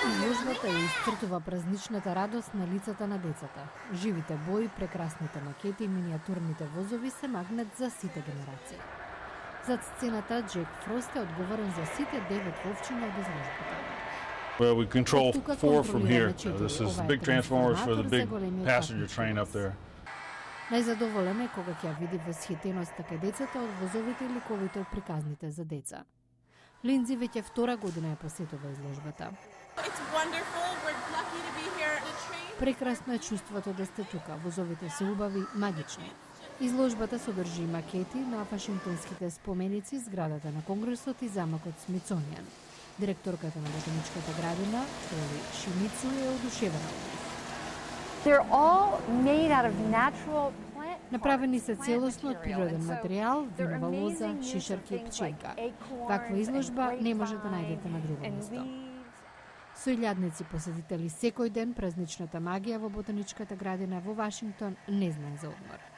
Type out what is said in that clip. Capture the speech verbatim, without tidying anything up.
Изложбата ја исцртува празничната радост на лицата на децата. Живите бои, прекрасните макети и миниатурните возови се магнет за сите генерации. Зад сцената Джек Фрост е одговорен за сите девет вовчиња од изложбата. Well, we control four from here. Uh, this is the big transformers for the big passenger train up there. Најзадоволен е кога ќе види восхитеноста кај децата од возовите и ликовите од приказните за деца. Линдзи веќе втора година ја посетува изложбата. Прекрасно е чувството да сте тука. Возовите се убави, магични. Изложбата содржи макети на вашингтонските споменици, зградата на Конгресот и замокот Смитсонијан. Директорката на ботаничката градина, Толи Шимицу, е одушевена од нив. They're all made out of natural plant. Направени се целосно од природен материјал, винова лоза, шишарки и пченка. Таква изложба не може да најдете на друго место. Со илјадници посетители секој ден, празничната магија во ботаничката градина во Вашингтон не знае за одмор.